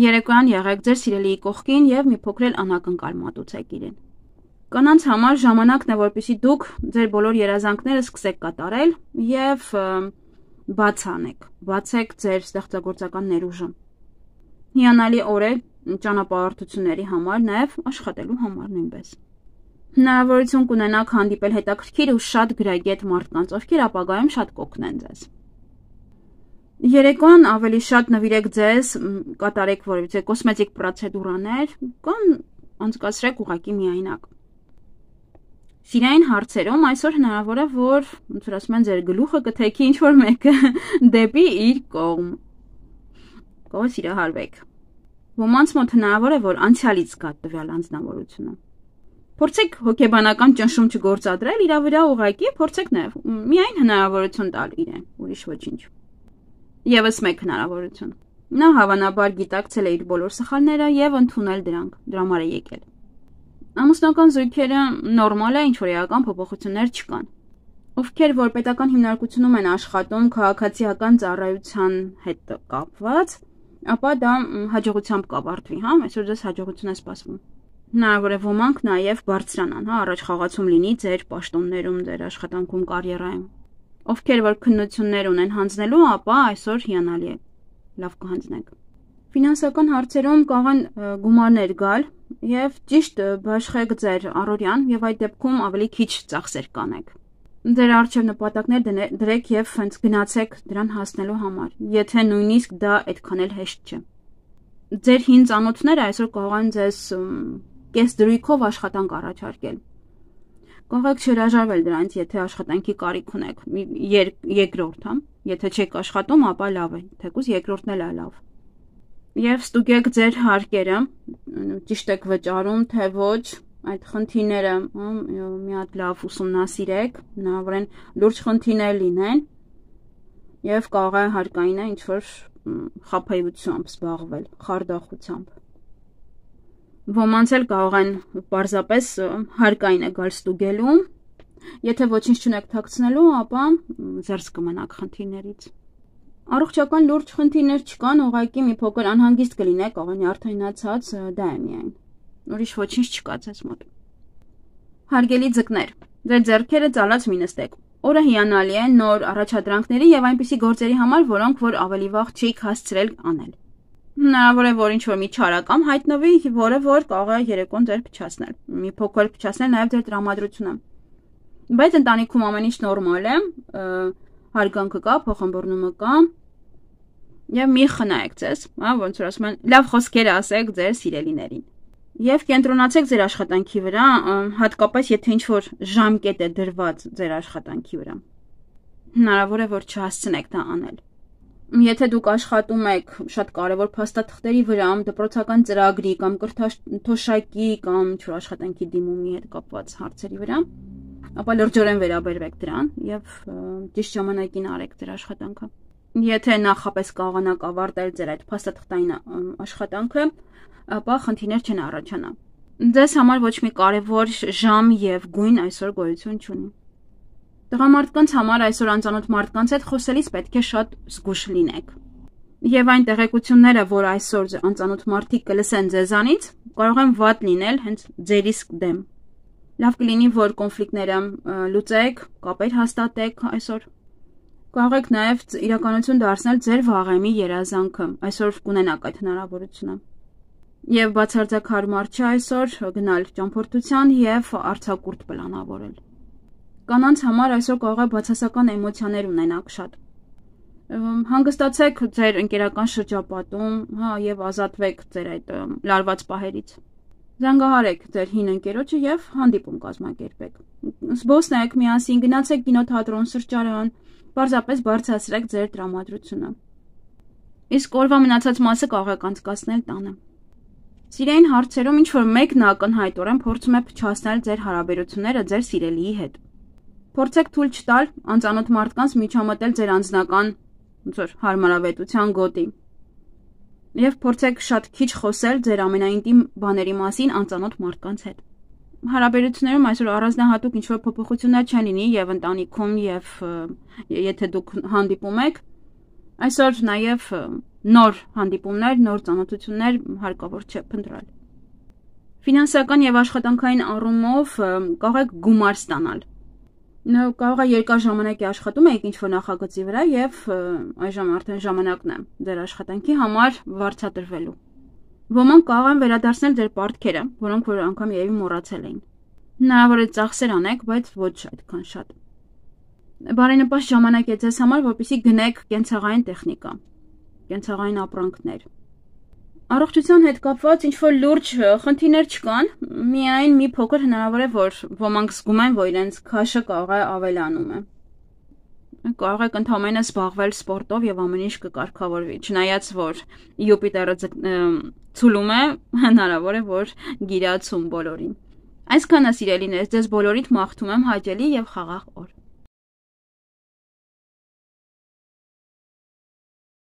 Երեկոյան եղեք ձեր սիրելիի կողքին եւ մի փոքր էլ անակնկալ մատուցեք իրեն։ Կանանց համար ժամանակն է, որպեսզի դուք ձեր բոլոր երազանքները սկսեք կատարել եւ բացեք ձեր ստեղծագործական ներուժը։ Հիանալի օր է ճանապարհորդությունների համար, նաեւ աշխատելու համար նույնպես։ Հնարավորություն կունենաք հանդիպել հետաքրքիր ու շատ գրագետ մարդկանց, ովքեր ապագայում շատ կօգնեն ձեզ։ Երեկոյան ավելի շատ նվիրեք ձեզ, կատարեք որևիցե կոսմետիկ պրոցեդուրաներ կամ անցկացրեք ուղղակի միայնակ։ Սիրային հարցերում այսօր հնարավոր է, որ ոնց որ ասում են ձեր գլուխը կթեքի ինչ որ մեկը դեպի իր կողմ։ Կարող սիրահարվեք։ Ոմանց մոտ հնարավոր է, որ անցյալից գա տվյալ անձնավորությունը։ Փորձեք հոգեբանական ճնշում չգործադրել իր վրա ուղղակի, փորձեք նաև միայն հնարավորություն տալ իրեն, ուրիշ ոչինչ։ Եվս մեկ հնարավորություն։ Նա հավանաբար գիտակցել է իր բոլոր սխալները եւ ընդունել դրանք, դրա համար է եկել։ Ամուսնական զույգերը նորմալ է, ինչ որ էական փոփոխություններ չկան։ Ովքեր որ պետական հիմնարկությունում են աշխատում քաղաքացիական ծառայության հետ կապված, ապա դա հաջողությամբ կավարտվի, հա, այսօր ձեզ հաջողություն է սպասվում։ Հնարավոր է ոմանք նաև բարձրանան, հա, առաջ խաղացում լինի ձեր պաշտոններում, ձեր աշխատանքում, կարիերայում։ Ովքեր որ քննություններ ունեն հանձնելու, ապա այսօր հիանալի է, լավ կհանձնեք։ Ֆինանսական հարցերում կարող են գումարներ գալ եւ ճիշտ բաշխեք ձեր առօրյան եւ այդ դեպքում ավելի քիչ ծախսեր կանեք։ Ձեր առջև նպատակներ դրեք եւ հենց գնացեք դրան հասնելու համար, եթե նույնիսկ դա այդքան էլ հեշտ չէ։ Ձեր հին ծանոթները այսօր կարող են ձեզ կես դրույքով աշխատանք առաջարկել։ Կարող եք չհրաժարվել դրանից, եթե աշխատանքի կարիք ունեք, երկրորդ, հա, եթե չեք աշխատում, ապա լավ է, թեկուզ երկրորդն էլ է լավ։ Եվ ստուգեք ձեր հարկերը, ճիշտ եք վճարում, թե ոչ, այդ խնդիրները մի հատ լավ ուսումնասիրեք, հնարավոր են լուրջ խնդիրներ լինեն, եւ կարող է հարկային է ինչ-որ խաբեությամբ զբաղվել, խարդախությամբ։ Ոմանց էլ կարող են պարզապես հարկային է գալ ստուգելու, եթե ոչինչ չունեք թաքցնելու, ապա զերծ կմնաք խնդիրներից։ Առողջական լուրջ խնդիրներ չկան, ուղղակի մի փոքր անհանգիստ կլինեք, կարող է նյարդայնացած, դա է միայն։ Ուրիշ ոչինչ չկա ձեզ մոտ։ Հարգելի ձկներ, ձեր ձեռքերը ծալած մի նստեք։ Օրը հիանալի է նոր առաջադրանքների եւ այնպիսի գործերի համար, որոնք որ ավելի վաղ չէիք հասցրել անել։ Հնարավոր է, որ ինչ-որ մի չարակամ հայտնվի, որը որ կարող է երեկոն ձեր փչացնել։ Մի փոքր փչացնել նաեւ ձեր տրամադրությունը։ Բայց ընտանիքում ամեն ինչ նորմալ է, հարգանքը կա, փոխանցումը կա։ Եվ մի խնայեք ձեզ, հա, ոնց որ ասում են, լավ խոսքեր ասեք ձեր սիրելիներին։ Եվ կենտրոնացեք ձեր աշխատանքի վրա, հատկապես եթե ինչ-որ ժամկետ է դրված ձեր աշխատանքի վրա։ Հնարավոր է, որ չհասցնեք դա անել։ Եթե դուք աշխատում եք շատ կարևոր փաստաթղթերի վրա, դպրոցական ծրագրի կամ կրթաթոշակի կամ ինչ-որ աշխատանքի դիմումի հետ կապված հարցերի վրա, ապա լրջորեն վերաբերվեք դրան եւ ճիշտ ժամանակին արեք ձեր աշխատանքը։ Եթե նախապես կարողանաք ավարտել ձեր այդ փաստաթղթային աշխատանքը, ապա խնդիրներ չեն առաջանա։ Ձեզ համար ոչ մի կարևոր ժամ եւ գույն այսօր գոյություն չունի։ Տղամարդկանց համար այսօր անծանոթ մարդկանց հետ խոսելիս պետք է շատ զգուշ լինեք։ Եվ այն տեղեկությունները, որ այսօր անծանոթ մարդիկ կլսեն ձեզանից, կարող են վատ լինել հենց ձեր իսկ դեմ։ Լավ կլինի, որ կոնֆլիկտները լուծեք, կապեր հաստատեք այսօր։ Կարող եք նաև իրականություն դարձնել ձեր վաղեմի երազանքը, այսօր կունենաք այդ հնարավորությունը։ Եվ բացարձակ հարմար չէ այսօր գնալ ճամփորդության եւ արձակուրդ պլանավորել։ Կանանց համար այսօր կարող է բացասական էմոցիաներ ունենաք շատ։ Հանգստացեք ձեր ընկերական շրջապատում, հա, եւ ազատվեք ձեր այդ լարված պահերից։ Զանգահարեք ձեր հին ընկերոջը եւ հանդիպում կազմակերպեք։ Զբոսնեք միասին, գնացեք կինոթատրոն, սրճարան, պարզապես բարձրացրեք ձեր տրամադրությունը։ Իսկ օրվա մնացած մասը կարող եք անցկացնել տանը։ Սիրային հարցերում ինչ-որ մեկն ակնհայտորեն փորձում է փչացնել ձեր հարաբերությունները ձեր սիրելիի հետ։ Փորձեք թույլ չտալ անծանոթ մարդկանց միջամտել ձեր անձնական ոնց որ հարմարավետության գոտի։ Եվ փորձեք շատ քիչ խոսել ձեր ամենաինտիմ բաների մասին անծանոթ մարդկանց հետ։ Հարաբերություններում այսօր առանձնահատուկ ինչ-որ փոփոխություններ չեն լինի եւ ընտանիքում եւ եթե դուք հանդիպում եք, այսօր նաեւ նոր հանդիպումներ, նոր ծանոթություններ հարկավոր չէ փնտրել։ Ֆինանսական եւ աշխատանքային առումով կարող եք գումար ստանալ։ Կարող է երկար ժամանակ աշխատում եք ինչ-որ նախագծի վրա եւ այժմ արդեն ժամանակն է ձեր աշխատանքի համար վարձատրվելու։ Ոմանք կարող են վերադարձնել ձեր պարտքերը, որոնք որ անգամ երևի մոռացել էին։ Հնարավոր է ծախսեր անեք, բայց ոչ այդքան շատ։ Բարենպաստ ժամանակ է ձեզ համար, որպեսզի գնեք կենցաղային տեխնիկա, կենցաղային ապրանքներ։ Առողջության հետ կապված ինչ-որ լուրջ խնդիրներ չկան, միայն մի փոքր հնարավոր է, որ ոմանք զգում են, որ իրենց քաշը կարող է ավելանում է։ Կարող եք ընդհանրապես զբաղվել սպորտով եւ ամեն ինչ կկարգավորվի, չնայած որ Յուպիտերը ցուլում է, հնարավոր է, որ գիրացում բոլորին։ Այսքանը սիրելիներ, ձեզ բոլորիդ մաղթում եմ հաճելի եւ խաղաղ օր։